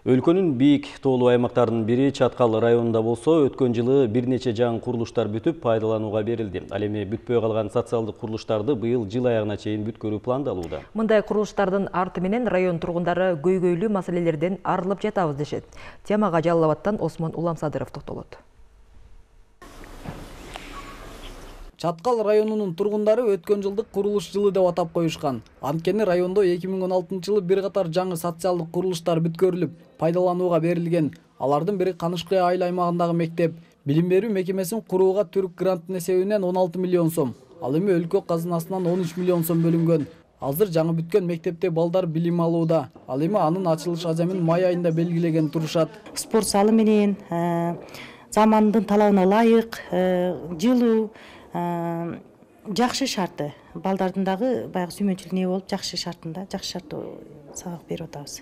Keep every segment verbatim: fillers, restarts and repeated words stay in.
Өлкөнүн бийик тоолуу аймактарынын бири Чаткал районунда болсо, өткөн жылы бир нече жаңы курулуштар бүтүп, пайдаланууга берилди. Ал эми бүтпөй калган социалдык курулуштарды быйыл жыл аягына чейин бүткөрүү пландалууда. Мындай курулуштардын арты менен район тургундары көйгөйлүү маселелерден арылып жатабыз дешет. Темага Жалал Абадтан Осмон Уламсадыров токтолот. Чаткал районунун тургундары өткөн жылдык курулуш жылы деп атап коюшкан. Анткени райондо эки миң он алтынчы жылы бир катар жаңы социалдык курулуштар бүткөрүлүп, пайдаланууга берилген. Алардын бири Канышкы айыл аймагындагы мектеп. Билим берүү мекемесин курууга түрк гранттын эсебинен он алты миллион сом, ал эми өлкө казынасынан он үч миллион сом бөлүнгөн. Азыр жаңы бүткөн мектепте балдар билим алууда. Ал эми анын ачылыш ажемин май айында белгилеген турушат. Спорт залы менен замандын талабына ылайык жылуу жакшы шарты, балдардын дагы баягы сүймөнчүлүк не болуп, жакшы шартында, жакшы шартта сабак берип атабыз.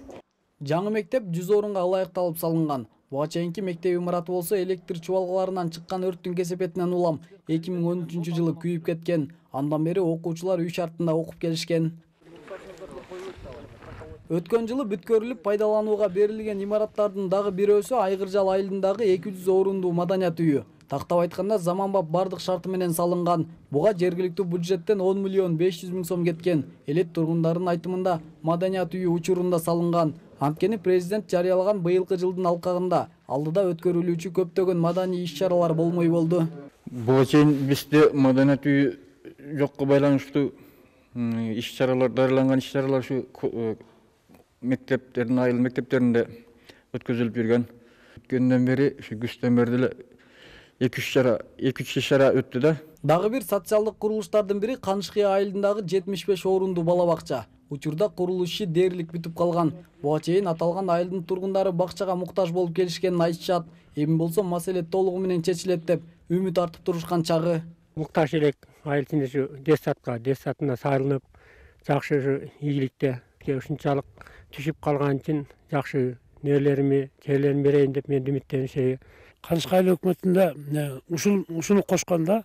Жаңы мектеп жүз орунга ылайыкталып салынган. Буга чейинки мектеп имараты болсо электр чубалгаларынан чыккан өрттүн кесепетинен улам эки миң он үчүнчү жылы күйүп кеткен. Андан бери окуучулар үй шартында окуп келишкен. Өткөн жылы бүткөрүлүп пайдаланууга берилген имараттардын дагы бирөөсү Айгыржал айылындагы эки жүз орундуу маданият үйү. Тактап айтканда заманбап бардык шарты менен салынган. Буга жергиликтүү бюджеттен он миллион беш жүз миң сом кеткен. Элет тургундардын айтымында маданият үйү учурунда салынган. Анткени президент жарыялаган быйылкы жылдын алкагында алдыда өткөрүлүүчү көптөгөн маданий иш-чаралар болмой болду. Буга чейин бизде маданият үйү жокко байланыштуу иш-чаралар, дарыланган иш-чаралар ушу мектептердин, айыл мектептеринде өткөзүлүп жүргөн. Өткөндөн бери ушу күздөн бери деле эки үч чара, эки үч иш-чара өттү да. Дагы бир социалдык курулуштардын бири Канышкы айылындагы жетимиш беш орундуу бала бакча. Учурда курулуш иши дээрлик бүтүп калган. Буга чейин аталган айылдын тургундары бакчага муктаж болуп келишкенин айтышат. Эми болсо маселе толугу менен чечилет деп үмүт артып турушкан чагы. Муктаж элек айыл ичинде ушу детсадка, детсадына салынып, жакшы ушу ийгиликте ушунчалык түшүп калган үчүн жакшы нерлерими, жерлерин берейин деп мен үмүттөнүшөй. Канышкы айыл өкмөтүндө ушул ушуну кошкондо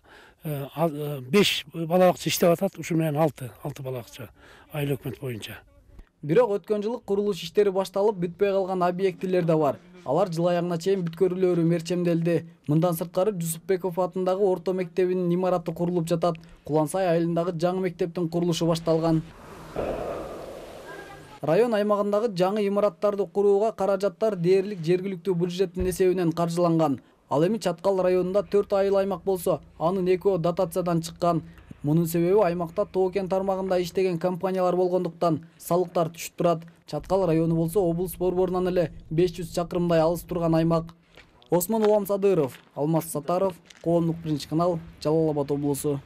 беш бала бакча иштеп атат, ушу менен алты, алты бала бакча айыл өкмөт боюнча. Бирок өткөн жылы курулуш иштери башталып, бүтпөй калган объектилер да бар. Алар жыл аягына чейин бүткөрүлөөрү мерчемделди. Мындан сырткары Жусупбеков атындагы орто мектебинин имараты курулуп жатат. Кулансай айылындагы жаңы мектептин курулушу башталган. Район аймагындагы жаңы имараттарды курууга каражаттар дээрлик жергиликтүү бюджеттин эсебинен каржыланган. Ал эми Чаткал районунда төрт айыл аймак болсо, анын экөө дотациядан чыккан. Мунун себеби аймакта Тоо-Кен тармагында иштеген компаниялар болгондуктан салыктар түшүп турат. Чаткал району болсо облус борборунан эле беш жүз чакырымдай алыс турган аймак. Осмон Уламсадыров, Алмаз Сатаров, Коомдук биринчи канал, Жалал Абад облусу.